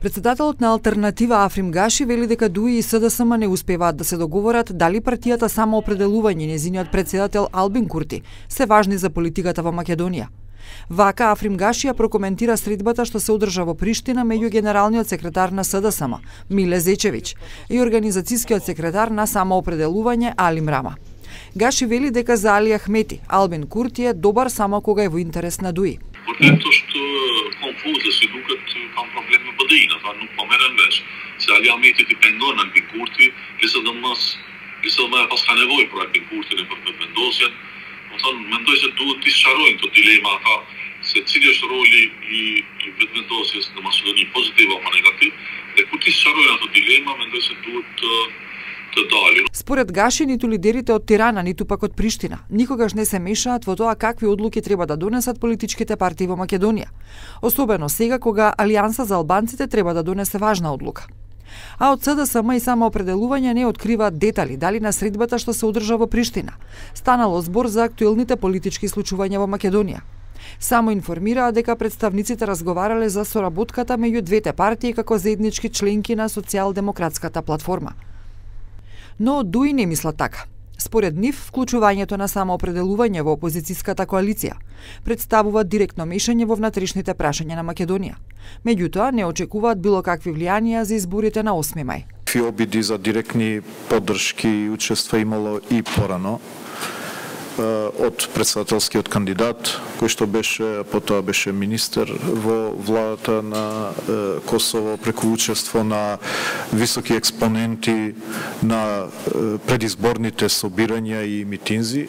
Председателот на Алтернатива Африм Гаши вели дека ДУИ и СДСМ не успеваат да се договорат дали партијата Самоопределување и нејзиниот председател Албин Курти се важни за политиката во Македонија. Вака Африм Гаши ја прокоментира средбата што се одржа во Приштина меѓу генералниот секретар на СДСМ Миле Зечевиќ и организацијскиот секретар на Самоопределување Алим Рама. Гаши вели дека за Али Ахмети Албин Курти е добар само кога е во интерес на ДУИ. Ето што конфуза си дукат кам проблем në BDI-na, tha nuk po merren vesh. Se Ali Ahmeti ti pengon Albin Kurti, pas ka nevojë për Albin Kurtin e për vendosjen. Do thonë, mendoj se duhet t'i sqarojnë këto dilema ata, se cili është roli i vendosjes në Maqedoni, pozitiv apo negativ, dhe kur t'i sqarojnë ato dilema, mendoj se duhet të dalin. Според Гаши, ниту лидерите од Тирана, ниту пак од Приштина, никогаш не се мешаат во тоа какви одлуки треба да донесат политичките партии во Македонија. Особено сега кога Алијанса за албанците треба да донесе важна одлука. А од СДСМ и Самоопределување не откриваат детали дали на средбата што се одржа во Приштина станало збор за актуелните политички случувања во Македонија. Само информираа дека представниците разговарале за соработката меѓу двете партии како заеднички членки на социјалдемократската платформа. Но ДУИ не мислат така. Според нив, вклучувањето на самоопределување во опозицијската коалиција представува директно мешање во внатрешните прашања на Македонија. Меѓутоа, не очекуваат било какви влијанија за изборите на 8 мај. Обиди за директни поддршки и учества имало и порано од председателскиот кандидат, кој што беше, потоа беше министер во владата на Косово, преку учество на високи експоненти на предизборните собирања и митинзи.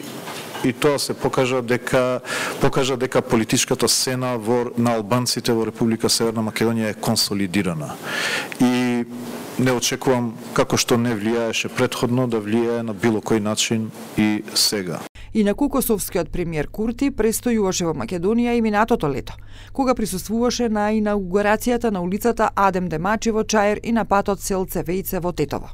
И тоа се покажа дека политичката сцена на албанците во Република Северна Македонија е консолидирана. И не очекувам, како што не влијаеше претходно, да влијае на било кој начин и сега. Инаку косовскиот премиер Курти престојуваше во Македонија и минатото лето, кога присуствуваше на инаугурацијата на улицата Адем Демачи во Чаир и на патот Селце Вејце во Тетово.